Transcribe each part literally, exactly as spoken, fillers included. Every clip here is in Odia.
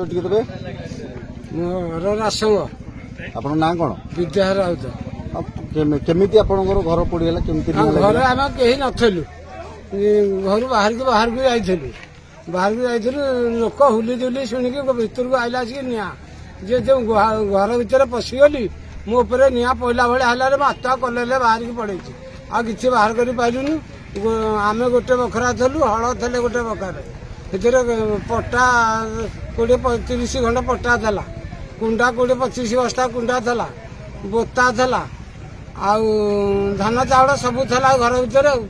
ଟିକେ ଦେବେ। ମୋର ରାସଙ୍ଗ। ଆପଣଙ୍କ ନାଁ କଣ? ବିଦ୍ୟାଧର ରାଉତ। ଆଉ କେମି- କେମିତି ଆପଣଙ୍କର ଘର ପୋଡିଗଲା, କେମିତି ନିଆଁ ଘରେ ଲାଗିଲା? ଆମେ କେହି ନଥିଲୁ, ଇ, ଘରୁ ବାହାରିକି ବାହାରକୁ ଯାଇଥିଲୁ ବାହାରକୁ ଯାଇଥିଲୁ ଲୋକ ହୁଲି ଜୁଲି ଶୁଣିକି ଭିତରକୁ ଆଇଲା ଆସିକି ନିଆଁ ଯେ ଯେଉଁ ଗୁହା- ଘର ଭିତରେ ପଶିଗଲି, ମୋ ଉପରେ ନିଆଁ ପଇଲା ଭଳିଆ ହେଲାରେ ମୁଁ ଆତ୍ମା କଲେରେ ବାହାରିକି ପଳେଇଛି, ଆଉ କିଛି ବାହାର କରି ପାରିଲୁନି। ଗୋ- ଆମେ ଗୋଟେ ବଖରା ଥିଲୁ, ହଳ ଥିଲେ ଗୋଟେ ବଖରାରେ, ସେଥିରେ ପଟା କୋଡ଼ିଏ ତିରିଶ ଖଣ୍ଡ ପଟା ଥିଲା, କୁଣ୍ଡା କୋଡ଼ିଏ ପଚିଶ ବସ୍ତା କୁଣ୍ଡା ଥିଲା, ବୋତା ଥିଲା, ଆଉ ଧାନ ଚାଉଳ ସବୁ ଥିଲା ଘର ଭିତରେ। ଆଉ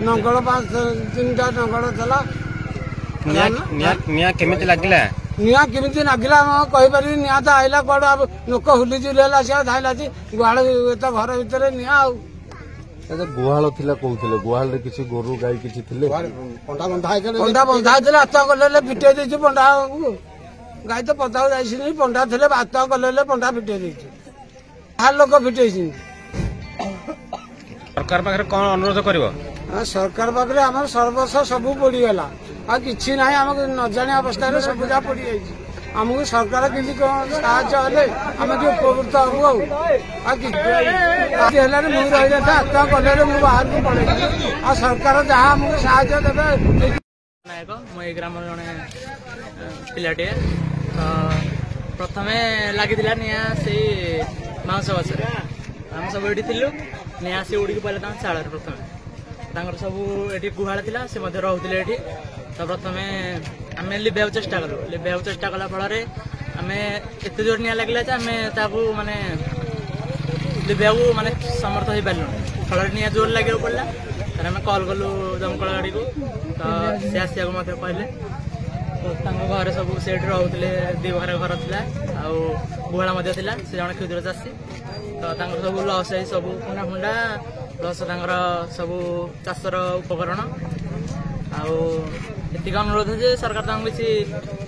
ନଙ୍ଗଳ ପାଞ୍ଚ ତିନିଟା ନଙ୍ଗଳ ଥିଲା। ନିଆଁ ନିଆଁ ନିଆଁ କେମିତି ଲାଗିଲା? ନିଆଁ କେମିତି ଲାଗିଲା ମୁଁ କହିପାରିବି? ନିଆଁ ତ ଆଇଲା କୁଆଡୁ, ଆଉ ଲୋକ ହୁଲି ଜୁଲି ହେଲା, ସେ ଧାଇଲା ଆସି ଗୁହାଳ ତ ଘର ଭିତରେ ନିଆଁ। ଆଉ ଆଚ୍ଛା, ଗୁହାଳ ଥିଲା କହୁଥିଲେ, ଗୁହାଳରେ କିଛି ଗୋରୁ ଗାଈ କିଛି ଥିଲେ? ପଣ୍ଡା ବନ୍ଧା ହେଇଥିଲା, ଆତ୍ମା କଲେ ଫିଟେଇ ଦେଇଛୁ ପଣ୍ଡାକୁ। ଗାଈ ତ ପଦାକୁ ଯାଇଛନ୍ତି, ପଣ୍ଡା ଥିଲେ ଆତ୍ମା କଲେ ପଣ୍ଡା ଫିଟେଇ ଦେଇଛୁ, ବାହାର ଲୋକ ଫିଟେଇଛନ୍ତି। ସରକାର ପାଖରେ କଣ ଅନୁରୋଧ କରିବ? ଆଉ ସରକାର ପାଖରେ ଆମର ସର୍ବସ୍ୱ ସବୁ ପୋଡିଗଲା, ଆଉ କିଛି ନାହିଁ। ଆମକୁ ନ ଜାଣିବା ଅବସ୍ଥାରେ ସବୁ ଯାହା ପୋଡିଯାଇଛି। ଆମକୁ ସରକାର କେମିତି କଣ ସାହାଯ୍ୟ ହେଲେ ଆମେ ଟିକେ ଉପକୃତ ହବୁ। ଆଉ ଆଉ କିଛି ହେଲାନି, ମୁଁ ରହିଯାଇଥା ଆତ୍ମା କଲେରେ ମୁଁ ବାହାରକୁ ପଳେଇଛି। ଆଉ ସରକାର ଯାହା ଆମକୁ ସାହାଯ୍ୟ ଦେବେ। ନାୟକ, ମୁଁ ଏଇ ଗ୍ରାମର ଜଣେ ଅ, ପିଲାଟିଏ। ତ ପ୍ରଥମେ ଲାଗିଥିଲା ନିଆଁ ସେଇ ବାଉଁଶ ଗଛରେ। ଆମେ ସବୁ ଏଠି ଥିଲୁ, ନିଆଁ ଆସି ଉଡ଼ିକି ପଡ଼ିଲା ତାଙ୍କ ଚାଳରେ। ପ୍ରଥମେ ତାଙ୍କର ସବୁ ଏଠି ଗୁହାଳ ଥିଲା, ସେ ମଧ୍ୟ ରହୁଥିଲେ ଏଠି। ତ ପ୍ରଥମେ ଆମେ ଲିଭେଇବାକୁ ଚେଷ୍ଟା କଲୁ। ଲିଭେଇବାକୁ ଚେଷ୍ଟା କଲା ଫଳରେ ଆମେ ଏତେ ଜୋର ନିଆଁ ଲାଗିଲା ଯେ ଆମେ ତାକୁ ମାନେ ଲିଭେଇବାକୁ ମାନେ ସମର୍ଥ ହେଇପାରିଲୁନି। ଫଳରେ ନିଆଁ ଜୋର ଲାଗିବାକୁ ପଡ଼ିଲା। ତାପରେ ଆମେ କଲ୍ କଲୁ ଦମକଳ ଗାଡ଼ିକୁ, ତ ସେ ଆସିବାକୁ ମଧ୍ୟ କହିଲେ। ତ ତାଙ୍କ ଘରେ ସବୁ ସେଇଠି ରହୁଥିଲେ, ଦି ବଖରା ଘର ଥିଲା ଆଉ ଗୁହାଳ ମଧ୍ୟ ଥିଲା। ସେ ଜଣେ କ୍ଷୁଦ୍ର ଚାଷୀ। ତ ତାଙ୍କର ସବୁ ଲସ୍ ହେଇ ସବୁ କୁଣ୍ଡା ଫୁଣ୍ଡା ପ୍ଲସ୍ ତାଙ୍କର ସବୁ ଚାଷର ଉପକରଣ। ଆଉ ଏତିକି ଅନୁରୋଧ ଯେ ସରକାର ତାଙ୍କୁ କିଛି,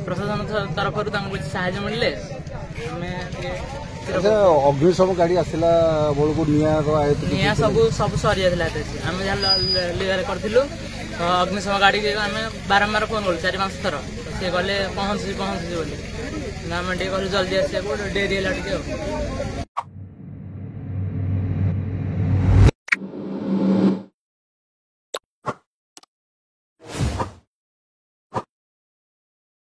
ପ୍ରଶାସନ ତରଫରୁ ତାଙ୍କୁ କିଛି ସାହାଯ୍ୟ ମିଳିଲେ ଆମେ ଟିକେ ଆଚ୍ଛା, ଅଗ୍ନିଶମ ଗାଡି ଆସିଲା ବେଳକୁ ନିଆଁର ଆୟତ୍ତ କିଛି ନିଆଁ ଥିଲା? ସବୁ ସବୁ ସରିଯାଇଥିଲା ଏତେ। ଆମେ ଯାହା ଲିଭାରେ କରିଥିଲୁ। ତ ଅଗ୍ନିଶମ ଗାଡ଼ିକି ଆମେ ବାରମ୍ବାର ଫୋନ କଲୁ ଚାରି ପାଞ୍ଚ ଥର। ତ ସିଏ କହିଲେ ପହଞ୍ଚୁଛି ପହଞ୍ଚୁଛି ବୋଲି। କିନ୍ତୁ ଆମେ ଟିକେ କହିଲୁ ଜଲ୍ଦି ଆସିବାକୁ, ଡେରି ହେଲା ଟିକେ। ଆଉ